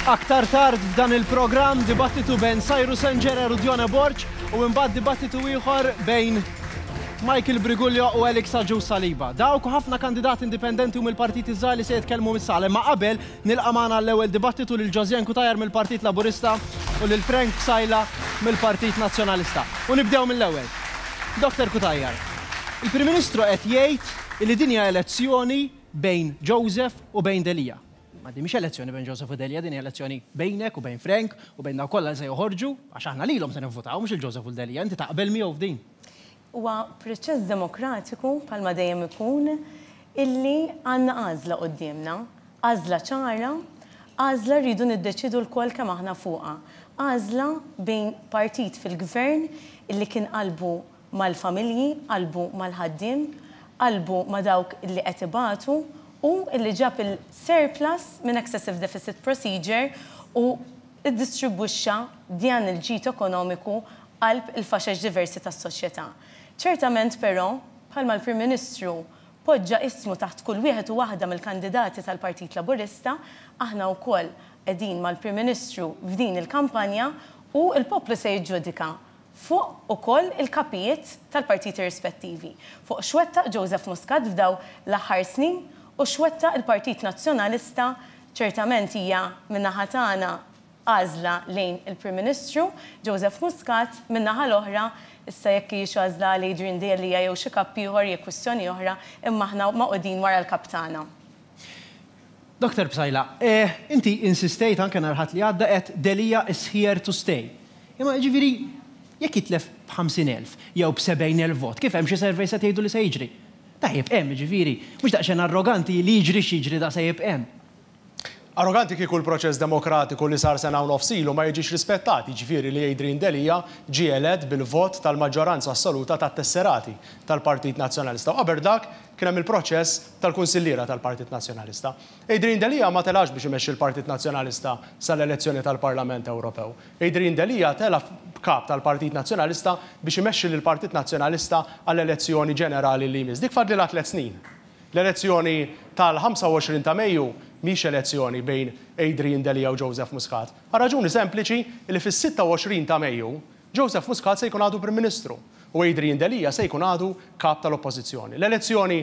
Aktar tard f'dan il-programm dibattitu bejn Cyrus Engerer u Dione Borg u imbagħad dibattitu ieħor bejn Michael Briguglio u Alex Agius Saliba. Dawk u ħafna kandidati indipendenti u mill-partiti żgħar li se jitkellmu mis-sala. Imma qabel nilqa' magħna għall-ewwel dibattitu lil Josianne Cutajar mill-Partit Laburista u lil Frank Psaila mill-Partit Nazzjonalista. U nibdew mill-ewwel. Dr Cutajar, il-Prim Ministru qed jgħid li din hija elezzjoni bejn Joseph u bejn Delia. Ma din mhix elezzjoni bejn Joseph u Delia, din hija elezzjoni bejnek u bejn Frank u bejn dawk kollha li se joħorġu, għax aħna lilhom se nivvutaw, mhux lil Joseph u 'l Delia. Inti taqbel miegħu f'din? Huwa proċess demokratiku, bħalma dejjem ikun, illi għandna għażla quddiemna. Għażla ċara, għażla rridu niddeċiedu lkoll kemm aħna fuqha. Għażla bejn partit fil-gvern illi kien qalbu mal-familji, qalbu mal-ħaddiem, qalbu ma' dawk illi qed ibatu u illi ġab il-surplus minn excessive deficit procedure u ddistribwixxa dan il-ġid ekonomiku qalb il-faxex diversi tas-soċjetà. Ċertament però, bħalma l-Prim Ministru poġġa ismu taħt kull wieħed u waħda mill-kandidati tal-Partit Laburista, aħna wkoll qegħdin mal-Prim Ministru f'din il-kampanja u l-poplu se jiġġudika fuq ukoll il-kapijiet tal-partiti rispettivi, fuq x'wettaq Joseph Muscat f'daw l-aħħar snin u x'wettaq il-Partit Nazzjonalista. Ċertament hija min-naħa tagħna għażla lejn il-Prim Ministru Joseph Muscat, min-naħa l-oħra, issa jekk hijiex għażla għal Adrian Delia jew xi kap ieħor hija kwistjoni oħra, imma aħna magħqudin wara l-kap tagħna. Dr Psaila, inti insistejt anke nhar Ħadd li għadda għedt Delia is here to stay. Imma jiġifieri jekk jitlef b'50,000 jew b'70,000 vot, kif hemm xi surveys qed jgħidu li se jiġri? Da jibqa' hemm, jiġifieri, mhux daqsxejn arroganti li jiġri x'jiġri da se jibqa' hemm. Arroganti kieku l-proċess demokratiku li sar sena u nofs ilu ma jiġix rispettat, jiġifieri li Adrian Delia ġie elett bil-vot tal-maġġoranza assoluta tat-tesserati tal-Partit Nazzjonalista u qabel dak kien hemm il-proċess tal-kunsilliera tal-Partit Nazzjonalista. Adrian Delia ma telax biex imexxi l-Partit Nazzjonalista sal-elezzjoni tal-Parlament Ewropew. Adrian Delia tela' kap tal-Partit Nazzjonalista biex imexxi lill-Partit Nazzjonalista għall-elezzjoni ġenerali li jmiss. Dik fadlilha tlett snin. L-elezzjoni tal-25 ta' Mejju mhix elezzjoni bejn Adrian Delia u Joseph Muscat. Għal raġuni sempliċi li fis-26 ta' Mejju, Joseph Muscat se jkun għadu Prim Ministru u Adrian Delia se jkun għadu Kap tal-Oppożizzjoni. L-elezzjoni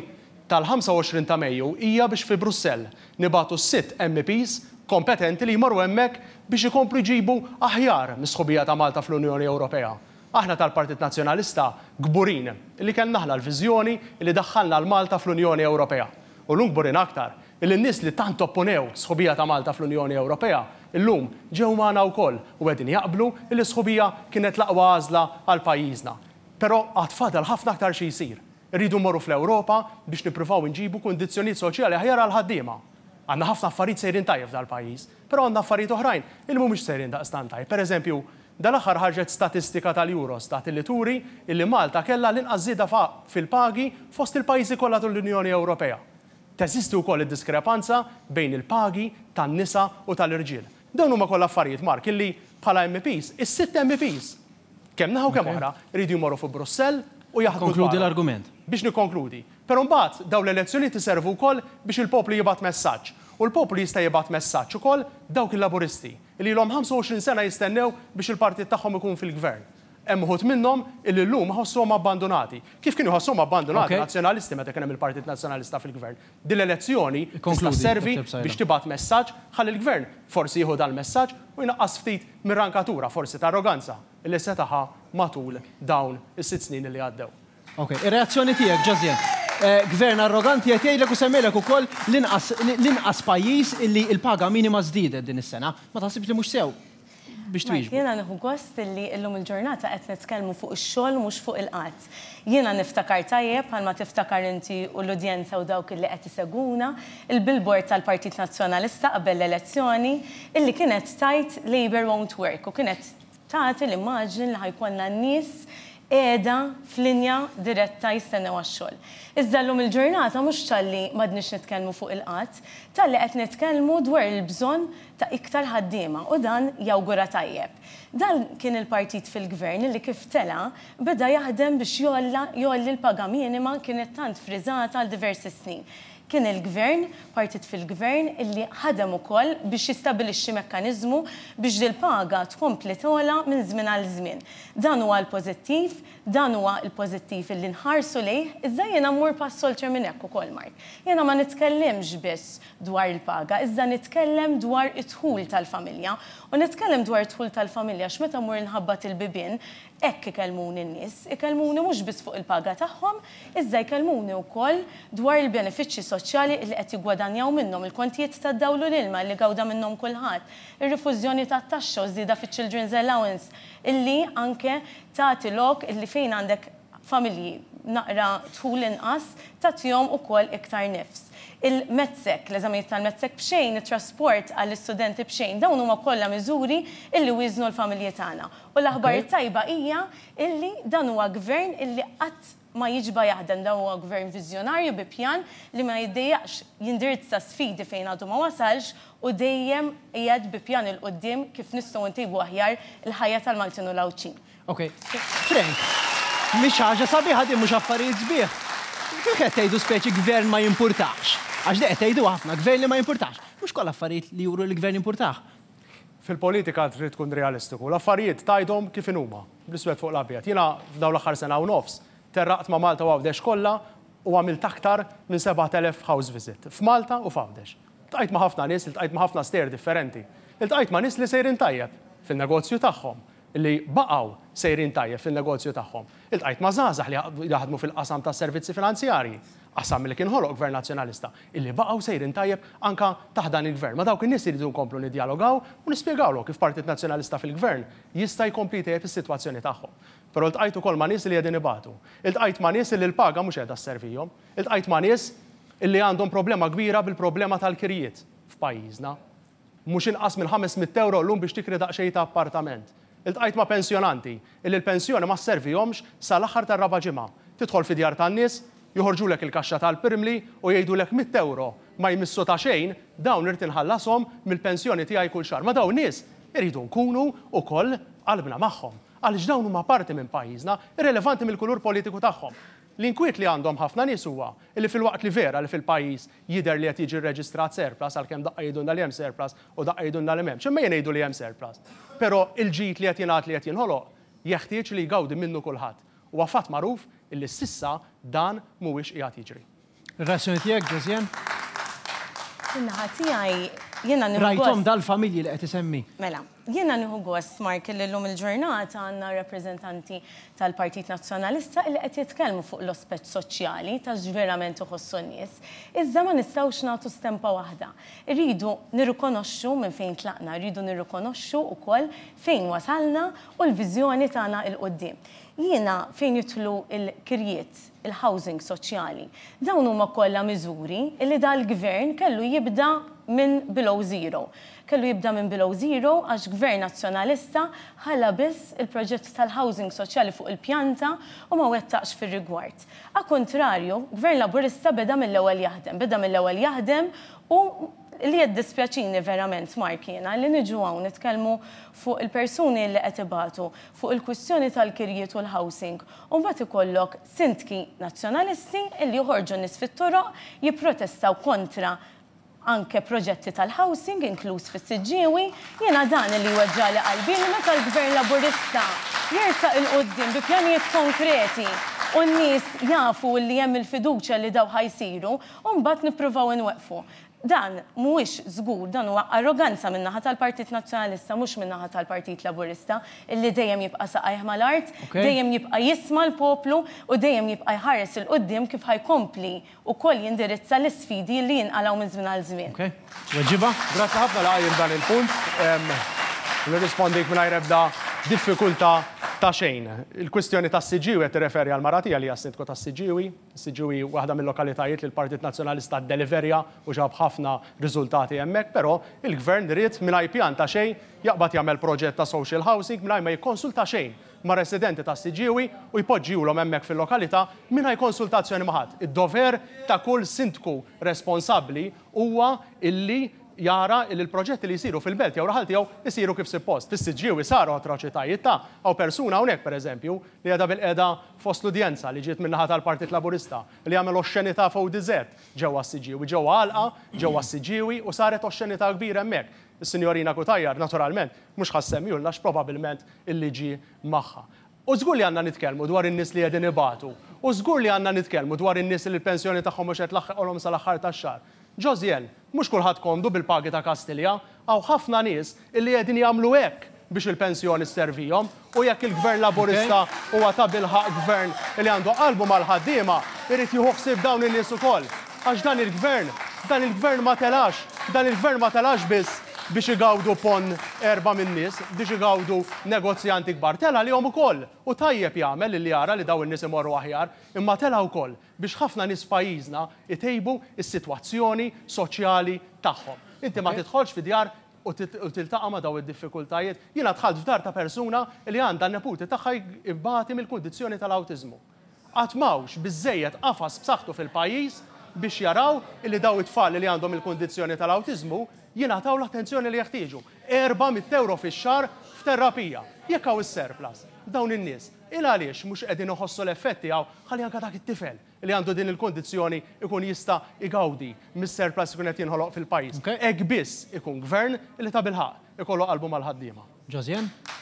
tal-25 ta' Mejju hija biex fi Brussell nibagħtu sitt MEPs kompetenti li jmorru hemmhekk biex ikomplu jġibu aħjar mis-sħubija ta' Malta fl-Unjoni Ewropea. Aħna tal-Partit Nazzjonalista kburin li kellna aħna l-viżjoni li daħħalna 'l Malta fl-Unjoni Ewropea. U llum kburin aktar li n-nies li tant opponew sħubija ta' Malta fl-Unjoni Ewropea llum ġew magħna wkoll u qegħdin jaqblu li s-sħubija kienet l-aqwa għażla għal pajjiżna. Però għad fadal ħafna aktar xi jsir. Irridu mmorru fl-Ewropa biex nippruvaw inġibu kundizzjonijiet soċjali aħjar għall-ħaddiema. Għandna ħafna affarijiet sejrin tajjeb f'dal-pajjiż, però għandna affarijiet oħrajn li mhumiex sejrin daqstant tajjeb. Pereżempju, dal-aħħar ħarġet statistika tal-Eurostat illi turi illi Malta kellha l-inqas żieda fil-pagi fost il-pajjiżi kollha tal-Unjoni Ewropea. Teżisti wkoll id-diskrepanza bejn il-pagi tan-nisa u tal-irġiel. Dawn huma kollha affarijiet, Mark, illi bħala MEPs, is-sitt MEPs, kemm naħa u kemm oħra, iridu jmorru fi Brussell u jaħdmu Konkludi l-argument. Biex nikkonkludi. Però mbagħad dawn l-elezzjonijiet iservu wkoll biex il-poplu jibgħat messaġġ. U l-poplu jista' jibgħat messaġġ ukoll dawk il-Laburisti li ilhom 25 sena jistennew biex il-partit tagħhom ikun fil-gvern. Hemm uħud minnhom illi llum iħossuhom abbandunati. Kif kienu jħossuhom abbandunati Nazzjonalisti meta kien hemm il-Partit Nazzjonalista fil-gvern. Din l-elezzjoni tista' sservi biex tibgħat messaġġ ħalli l-gvern forsi jieħu dal-messaġġ u jnaqqas ftit mir-rankatura, forsi ta' arroganza, illi seta' ħa matul dawn is-sitt snin illi għaddew. Ok, ir-reazzjoni tiegħek, Josiane. Gvern arroganti qed jgħidlek u semmejlek ukoll l-inqas l-inqas pajjiż illi l-paga minima żdiedet din is-sena. Ma taħsibx li mhux sew biex Mark, twieġbu? jiena nieħu gost illi illum il-ġurnata qed nitkellmu fuq ix-xogħol u mhux fuq il-qgħad. Jiena niftakar tajjeb, bħalma tiftakar inti u l-udjenza u dawk illi qed isegwuna, il-billboard tal-Partit Nazzjonalista qabel l-elezzjoni illi kienet tgħid Labour won't work u kienet Tagħti l-immaġni li ħa jkollna nies qiegħda f'linja diretta jistennew għax-xogħol. Iżda llum il-ġurnata mhux talli m'għadniex nitkellmu fuq il-qgħad, talli qed nitkellmu dwar il-bżonn ta' iktar ħaddiema u dan jawgura tajjeb. Dan kien il-partit fil-Gvern li kif tela' beda jaħdem biex jgħolla jgħolli l-paga minima kienet tant friżata għal diversi snin. Kien il-Gvern, partit fil-Gvern, illi ħadem ukoll biex jistabilixxi mekkaniżmu biex dil-paga tkompli togħla minn żmien għal żmien. Dan huwa l-pożittiv, dan huwa l-pożittiv illi nħarsu lejh, iżda jiena mmur pass oltre minn hekk ukoll, Mark. Jiena ma nitkellimx biss dwar il-paga, iżda nitkellem dwar id-dħul tal-familja. U nitkellem dwar id-dħul tal-familja għax meta mmur inħabbat il-bibien, Hekk ikellmuni n-nies. Ikellmuni mhux biss fuq il-paga tagħhom, iżda jkellmuni wkoll dwar il-benefiċċji soċjali li qed jiggwadanjaw minnhom, il-kontijiet tad-dawl u l-ilma li gawda minnhom kulħadd, ir-rifużjoni tat-taxxa u ż-żieda fiċ-children's allowance illi anke tagħti lok illi fejn għandek familji b'naqra dħul inqas tagħtihom ukoll iktar nifs. Il-METSEC, l-eżamijiet tal-METSEC b'xejn, it-trasport għall-istudenti b'xejn, dawn huma kollha miżuri illi wieżnu l-familji tagħna. U l-aħbar it-tajba hija illi dan huwa gvern illi qatt ma jiġba jaħdem, dan huwa gvern viżjonarju bi pjan li ma jiddejjaqx jindirizza sfidi fejn għadu ma wasalx u dejjem qiegħed bi pjan 'il quddiem kif nistgħu ntejbu aħjar il-ħajja tal-Maltin u l-Għawdxin. Ok. Frank, mhix ħaġa sabiħa din mhux affarijiet sbieħ. Kif qed tgħidu speċi gvern ma jimpurtahx? Għax di qed tgħiduha ħafna, gvern li ma jimpurtahx. Mhux kollha affarijiet li juru li l-gvern jimpurtah. Fil-politika trid tkun realistiku. L-affarijiet tgħidhom kif inhuma, bl-iswed fuq l-abjad. Jiena f'dawn l-aħħar sena u nofs terraqt ma' Malta u Għawdex kollha u għamilt aktar minn 7,000 house visit f'Malta u f'Għawdex. Iltqajt ma' ħafna nies, iltqajt ma' ħafna stejjer differenti. Iltqajt ma' nies li sejrin tajjeb fin-negozju tagħhom, li baqgħu sejrin tajjeb fin-negozju tagħhom. Iltqajt ma' żgħażagħ li jaħdmu fil-qasam tas-servizzi finanzjarji, qasam li kien ħoloq Gvern Nazzjonalista, illi baqgħu sejrin tajjeb anke taħt dan il-Gvern. Ma' dawk in-nies irridu nkomplu niddjalogaw u nispjegawlhom kif Partit Nazzjonalista fil-Gvern jista' jkompli jtejjeb is-sitwazzjoni tagħhom. Però ltqajt ukoll ma' nies li qegħdin ibatu. Iltqajt ma' nies illi l-paga mhux qiegħda sservihom. Iltqajt ma' nies illi għandhom problema kbira bil-problema tal-kirjiet f'pajjiżna. Mhux inqas minn ħames mitt ewro llum biex tikri daqsxejn ta' appartament. Iltqajt ma' pensjonanti illi l-pensjoni ma sservihomx sal-aħħar tar-raba' ġimgħa. Tidħol fi djar tan-nies, joħorġulek il-kaxxa tal-pirmli u jgħidulek mitt ewro ma jmissu ta' xejn, dawn irrid inħallashom mill-pensjoni tiegħi kull xahar. Ma' dawn nies irridu nkunu wkoll qalbna magħhom. Għaliex dawn huma parti minn pajjiżna, irrelevanti mill-kulur politiku tagħhom. L-inkwiet li għandhom ħafna nies huwa li filwaqt li vera li fil-pajjiż jidher li qed jiġi rreġistrat surplus, għalkemm daqqa jgħidulna li hemm surplus u daqqa jgħidulna li m'hemmx, imma jien ngħidu li hemm surplus. Però il-ġid li qed jingħad li qed jinħoloq jeħtieġ li jgawdi minnu kulħadd. Huwa fatt magħruf illi s'issa dan mhuwiex qiegħed jiġri. Ir-reazzjoni tiegħek, Josianne? Min-naħa tiegħi, jiena nieħu gost. Rajthom dal-familji li qed isemmi? Mela, jiena nieħu gost, Mark, illi llum il-ġurnata għandna rappreżentanti tal-Partit Nazzjonalista illi qed jitkellmu fuq l-ospett soċjali ta' x'verament iħossu n-nies. Iżda ma nistgħux nagħtu stempa waħda. Irridu nirrikonoxxu minn fejn tlaqna, irridu nirrikonoxxu wkoll fejn wasalna u l-viżjoni tagħna 'l quddiem. Jiena fejn jidħlu l-kirjiet, il-housing soċjali, dawn huma kollha miżuri li dal-Gvern kellu jibda minn below zero. Kellu jibda minn below zero għax Gvern Nazzjonalista ħalla biss il-proġett tal-housing soċjali fuq il-pjanta u ma wettaqx fir-rigward. A kuntrarju, Gvern Laburista beda mill-ewwel jaħdem. Beda mill-ewwel jaħdem u li jiddispjaċini verament, Mark, jiena li niġu hawn nitkellmu fuq il-persuni li qed ibatu, fuq il-kwistjoni tal-kirjiet u l-housing, u mbagħad ikollok sindki Nazzjonalisti li joħorġu n-nies fit-toroq jipprotestaw kontra anke proġetti tal-housing, inkluż fis-Siġġiewi. Jiena dan li jweġġagħli qalbi li meta l-Gvern Laburista jersaq 'il quddiem bi pjanijiet konkreti u n-nies jafu li hemm il-fiduċja li dawn ħa jsiru, u mbagħad nippruvaw inweqqfu. Dan mhuwiex żgur, dan huwa arroganza min-naħa tal-Partit Nazzjonalista mhux min-naħa tal-Partit Laburista illi dejjem jibqa' saqajh mal-art, dejjem jibqa' jisma' l-poplu u dejjem jibqa' jħares 'il quddiem kif ħa jkompli wkoll jindirizza l-isfidi li jinqalgħu minn żmien għal żmien. Ok. Tweġiba? Grazzi ħafna li qajjimt dan il-punt. Nirrispondik mingħajr ebda diffikultà ta' xejn. Il-kwistjoni tas-Siġġiewi qed tirreferi għall-mara tiegħi li hija s-Sindku tas-Siġġiewi. Siġġiewi hi waħda mil-lokalitajiet li l-Partit Nazzjonalista ddeliverja u ġab ħafna riżultati hemmhekk, però il-Gvern ried mingħajr pjan ta' xejn jaqbad jagħmel proġett ta' social housing mingħajr ma jikkonsulta xejn mar-residenti ta' Siġġiewi u jpoġġihulhom hemmhekk fil-lokalità mingħajr konsultazzjoni ma' ħadd. Id-dover ta' kull sindku responsabbli huwa illi jara li l-proġetti li jsiru fil-belt jew raħal tiegħu jsiru kif suppost. Fis-Siġġiewi saru atroċitajiet ta' hawn persuna hawnhekk pereżempju li qiegħda bilqiegħda fost l-udjenza li ġiet min-naħa tal-Partit Laburista li għamel oxxenità f'ODZ ġewwa s-Siġġiewi, ġewwa għalqa ġewwa s-Siġġiewi u saret oxxenità kbira hemmhekk. Is-Sinjorina Cutajar naturalment mhux ħa ssemmihulna għax probabilment il-liġi magħha. U żgur li għandna nitkellmu dwar in-nies li qegħdin ibatu. U żgur li għandna nitkellmu dwar in-nies li l-pensjoni tagħhom mhux qed tlaħħqilhom sal-aħħar tax-xahar. Josianne, mhux kulħadd komdu bil-pagi ta' Kastilja. Hawn ħafna nies illi qegħdin jagħmlu hekk biex il-pensjoni sservihom. U jekk il-Gvern Laburista huwa tabilħaqq Gvern li għandu qalbu mal-ħaddiema, irid jieħu ħsieb dawn in-nies ukoll. Għax dan il-Gvern, dan il-Gvern ma telax, dan il-Gvern ma telax biss biex igawdu ponn erbgħa min-nies, biex igawdu negozjanti kbar. Tela' għalihom ukoll, u tajjeb jagħmel li jara li dawn in-nies imorru aħjar, imma tela' wkoll biex ħafna nies f'pajjiżna jtejbu s-sitwazzjoni soċjali tagħhom. Inti ma tidħolx fi djar u tiltaqa' ma' dawn id-diffikultajiet. Jiena dħalt f'dar ta' persuna li għandha n-neputi tagħha jbati mill-kundizzjoni tal-awtiżmu. Għad m'hawnx biżżejjed qafas b'saħħtu fil-pajjiż biex jaraw illi dawn it-tfal li għandhom il-kundizzjoni tal-awtiżmu jingħataw l-attenzjoni li jeħtieġu. 400 ewro fix-xahar f'terapija. Jekk hawn is-surplus, dawn in-nies, il għaliex mhux qegħdin iħossu l-effett tiegħu ħalli anke dak it-tifel li għandu din il-kundizzjoni jkun jista' jgawdi mis-surplus li jkun qed jinħoloq fil-pajjiż. Hekk biss ikun gvern li tabilħaqq ikollu qalbu mal-ħaddiema. Josianne?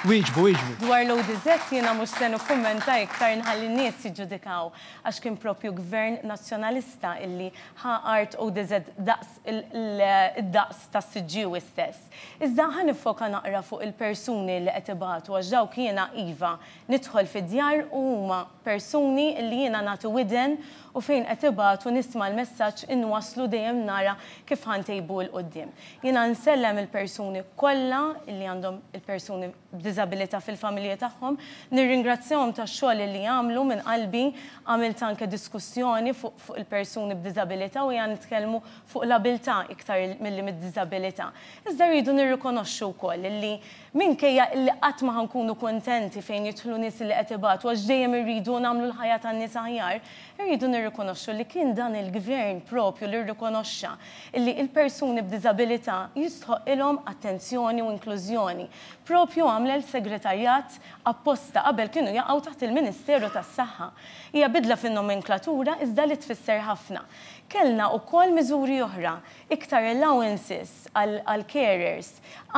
Wieġbu, wieġbu. Dwar l-ODZ jiena mhux se nikkummenta iktar nħalli n-nies jiġġudikaw għax kien propju Gvern Nazzjonalista illi ħa art ODZ daqs id-daqs tas-Siġġiewi stess. Iżda ħa niffoka naqra fuq il-persuni li qed ibatu għax dawk jiena iva nidħol fid-djar u huma persuni illi jiena nagħti widen u fejn qed ibatu nisma' l-messaġġ inwasslu dejjem nara kif ħa ntejbu 'l quddiem. Jiena nsellem il-persuni kollha li għandhom il-persuni b'diżabilità fil-familji tagħhom. Nirringrazzjahom tax-xogħol li jagħmlu minn qalbi. Għamilt anke diskussjoni fuq fuq il-persuni b'diżabilità u ejja nitkellmu fuq l-abilità iktar milli mid-diżabilità. Iżda rridu nirrikonoxxu wkoll li minkejja illi qatt ma ħa nkunu kuntenti fejn jidħlu nies li qed ibatu għax dejjem irridu nagħmlu l-ħajja tan-nies aħjar, irridu nirrikonoxxu li kien dan il-Gvern propju li rrikonoxxa illi il-persuni b'diżabilità jistħoqqilhom attenzjoni u inklużjoni. Propju għamlel segretarjat apposta, qabel kienu jaqgħu taħt il-Ministeru tas-Saħħa. Hija bidla fin-nomenklatura iżda li tfisser ħafna. Kellna ukoll miżuri oħra, iktar allowances għall-carers,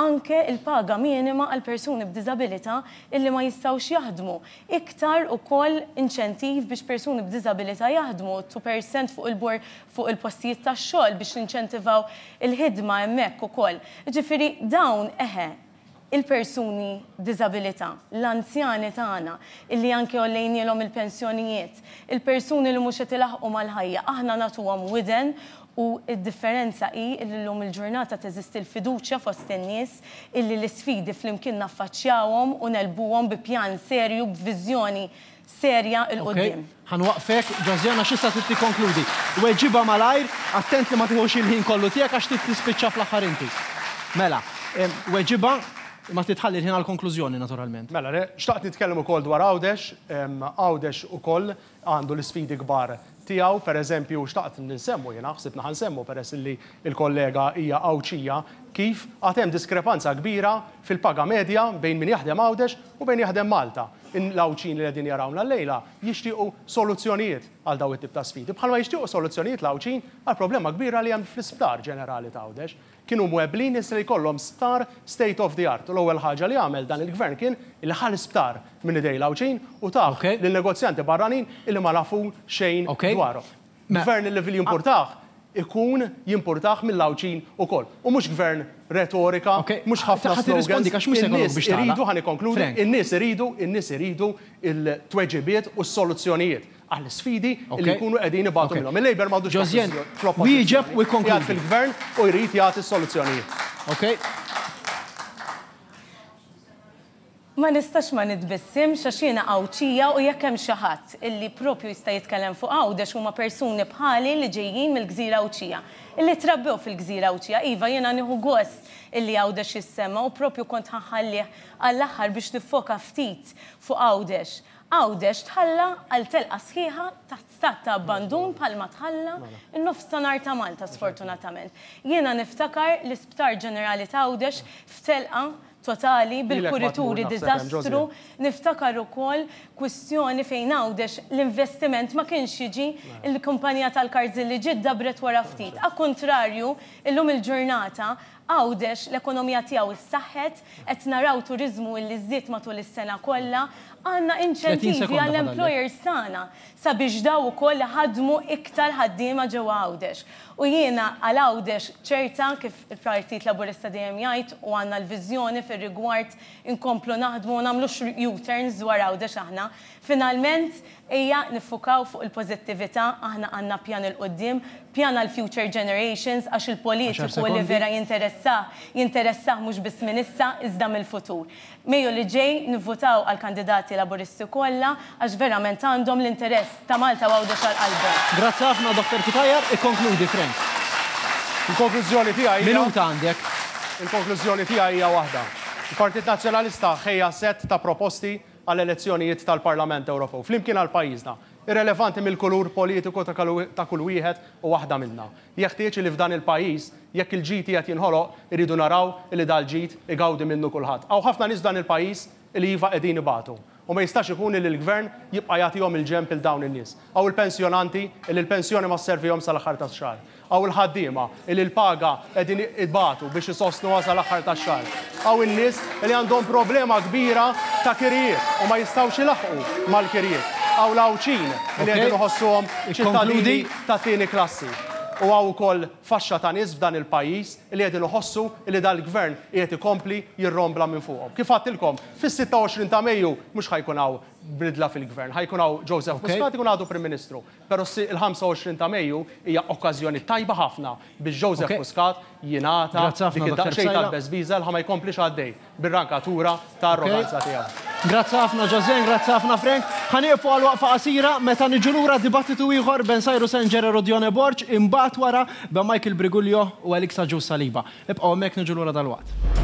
anke l-paga minima għal persuni b'diżabilità illi ma jistgħux jaħdmu, iktar ukoll inċentiv biex persuni b'diżabilità jaħdmu, 2% fuq il-bor fuq il-postijiet tax-xogħol biex ninċentivaw il-ħidma hemmhekk ukoll. Jiġifieri dawn, eħe, il-persuni b'diżabilità, l-anzjani tagħna illi anke għollejnielhom il-pensjonijiet, il-persuni li mhux qed ilaħħqu mal-ħajja, aħna nagħtuhom widen u d-differenza hi illi llum il-ġurnata teżisti l-fiduċja fost in-nies illi l-isfidi flimkien naffaċċjawhom u negħlbuhom bi pjan serju, b'viżjoni serja 'l quddiem. Ok, ħa nwaqqfek, Josiane għax issa trid tikkonkludi. Weġibha malajr, attent li ma tiħux il-ħin kollu tiegħek għax trid tispiċċa fl-aħħar inti. Mela, weġibha, imma trid tħalli l-ħin għall-konklużjoni naturalment. Mela, le, xtaqt nitkellem ukoll dwar Għawdex. Għawdex ukoll għandu l-isfidi kbar tiegħu. Per eżempju, xtaqt nsemmu jiena, ħsibna ħa nsemmu peress li l-kollega hija Għawdxija, kif għad hemm diskrepanza kbira fil-paga medja bejn min jaħdem Għawdex u bejn jaħdem Malta. L-Għawdxin li qegħdin jarawna llejla jixtiequ soluzzjonijiet għal dawn it-tip ta' sfidi, bħalma jixtiequ soluzzjonijiet l-Għawdxin għall-problema kbira li hemm fl-isptar ġenerali ta' Għawdex. Kienu mweblin issa li jkollhom sptar state of the art u l-ewwel ħaġa li għamel dan il-Gvern kien li ħa l-isptar minn idejn l-Għawdxin u tah lil negozjanti barranin illi ma nafu xejn dwarhom. Gvern li jimpurtah ikun jimpurtah mill-Għawdxin ukoll. U mhux gvern retorika, mhux ħafna slogans. In-nies iridu, ħa nikkonkludi, in-nies iridu, in-nies iridu l-tweġibiet u s-soluzzjonijiet għall-isfidi li jkunu qegħdin ibatu minnhom. Il-Labour m'għadux fl-oppożizzjoni, qiegħed fil-gvern u jrid jagħti s-soluzzjonijiet. Ma nistax ma nitbissimx għax jiena Għawdxija u jekk hemm xi ħadd illi propju jista' jitkellem fuq Għawdex huma persuni bħali li ġejjin mill-gżira Għawdxija, illi trabbew fil-gżira Għawdxija. Iva, jiena nieħu gost illi Għawdex jissemma u propju kont ħa nħallih għall-aħħar biex niffoka ftit fuq Għawdex. Għawdex tħalla għal telqa sħiħa taħt stat ta' abbandun bħalma tħalla n-nofstanhar ta' Malta sfortunatament. Jiena niftakar l-Isptar Ġenerali t'Għawdex f'telqa totali bil-kurituri diżastru, niftakar ukoll kwistjoni fejn Għawdex l-investiment ma kienx jiġi, il-kumpanija tal-kards li ġiet dabbret wara ftit. A kuntrarju, illum il-ġurnata Għawdex l-ekonomija tiegħu ssaħħet, qed naraw turiżmu illi żdied matul is-sena kollha, għandna inċentivi għall-employers tagħna sabiex daw ukoll iħaddmu iktar ħaddiema ġewwa Għawdex. U jiena għal Għawdex ċerta, kif il-Partit Laburista dejjem jgħid u għandna l-viżjoni fir-rigward inkomplu naħdmu u nagħmlux U-turns dwar Għawdex aħna. Finalment, ejja niffukaw fuq il-pożittività, aħna għandna pjan 'il quddiem, pjan għall-future generations għax il-politiku li vera jinteressah, jinteressah mhux biss minn issa iżda mill-futur. Mejju li ġej nivvutaw għall-kandidati Laburisti kollha għax verament għandhom l-interess ta' Malta u Għawdex għal qalbhom. Grazzi ħafna Dottor Cutajar, ikkonkludi Frank. Il-konklużjoni tiegħi hija. Minuta għandek. Il-konklużjoni tiegħi hija waħda. Il-Partit Nazzjonalista ħejja sett ta' proposti għall-elezzjonijiet tal-Parlament Ewropew, flimkien għal pajjiżna, irrelevanti mill-kulur politiku ta' kull wieħed u waħda minna. Jeħtieġ li f'dan il-pajjiż, jekk il-ġid qiegħed jinħoloq, irridu naraw li dal-ġid igawdi minnu kulħadd. Hawn ħafna nies f'dan il-pajjiż li iva qegħdin ibatu. U ma jistax ikun li l-Gvern jibqa' jagħtihom il-ġenb lil dawn in-nies. Hawn il-pensjonanti li l-pensjoni ma sservihomx sal-aħħar tax-xahar. Hawn il-ħaddiema li l-paga qegħdin ibatu biex isostnuha sal-aħħar tax-xahar. Hawn in-nies li għandhom problema kbira ta' kirjiet u ma jistgħux ilaħħqu mal-kirjiet. Hawn l-Għawdxin li qegħdin iħossuhom ċittadini tat-tieni klassi. U hawn ukoll faxxa ta' nies f'dan il-pajjiż li qegħdin iħossu li dal-Gvern qiegħed ikompli jirrombla minn fuqhom. Kif għedtilkom, fis-26 ta' Mejju mhux ħa jkun hawn bidla fil-Gvern, ħa jkun hawn Joseph Muscat ikun għadu Prim Ministru. Però il-25 ta' Mejju hija okkażjoni tajba ħafna biex Joseph Muscat jingħata dik id-daqsxejn ta' tbeżbiża li ħa ma jkomplix għaddej bir-rankatura ta' arroganza tiegħu. Grazzi ħafna José, grazzi ħafna Frank. Ħa nieqfu għal waqfa qasira, meta niġu lura dibattitu ieħor ben Cyrus Engerer u Dione Borg, imbagħad wara ben Michael Briguglio u Alex Agius Saliba. Ibqgħu hemmhekk niġu lura dalwaqt.